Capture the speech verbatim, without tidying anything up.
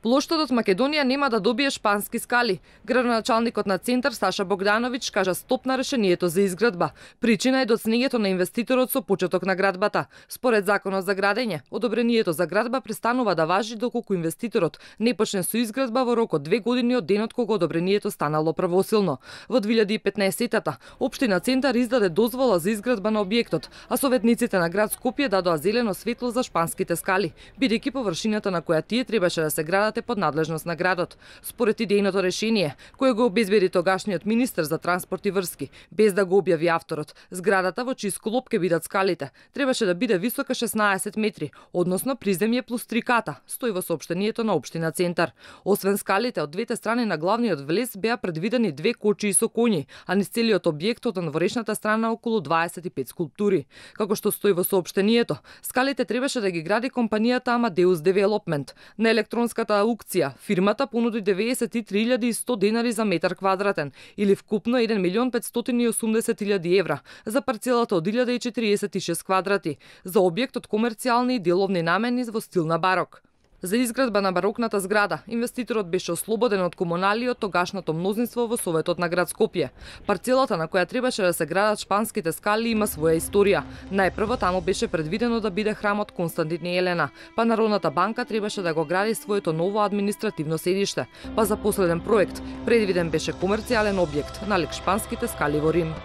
Плоштот од Македонија нема да добие шпански скали. Градоначалникот на Центар Саша Богдановиќ кажа стоп на решението за изградба. Причина е доцнењето на инвеститорот со почеток на градбата. Според законот за градење, одобрението за градба престанува да важи доколку инвеститорот не почне со изградба во рок од две години од денот кога одобрението станало правосилно. Во две илјади и петнаесетта општина Центар издаде дозвола за изградба на објектот, а советниците на град Скопје дадоа зелено светло за шпанските скали, бидејќи површината на која тие требаше да се градат е под надлежност на градот. Според идејното решение, кое го обезбеди тогашниот министер за транспорт и врски, без да го објави авторот, зградата во чиј склоп ќе бидат скалите, требаше да биде висока шеснаесет метри, односно приземје плюс три ката, стои во соопштението на општина Центар. Освен скалите, од двете страни на главниот влез беа предвидени две кочии со коњи, а низ целиот објект од надворешната страна околу дваесет и пет скулптури. Како што стои во соопштението, скалите требаше да ги гради компанијата Amadeus Development. На електронската аукција, фирмата понуди деветдесет и три илјади и сто денари за метар квадратен, или вкупно еден милион петстотини и осумдесет илјади евра, за парцелата од илјада и четириесет и шест квадрати, за објект од комерцијални и деловни намени во стил на барок. За изградба на барокната зграда, инвеститорот беше ослободен од комунали од тогашното мнозинство во Советот на град Скопје. Парцелата на која требаше да се градат шпанските скали има своја историја. Најпрво таму беше предвидено да биде храмот Константин и Елена, па Народната банка требаше да го гради своето ново административно седиште, па за последен проект предвиден беше комерцијален објект налик шпанските скали во Рим.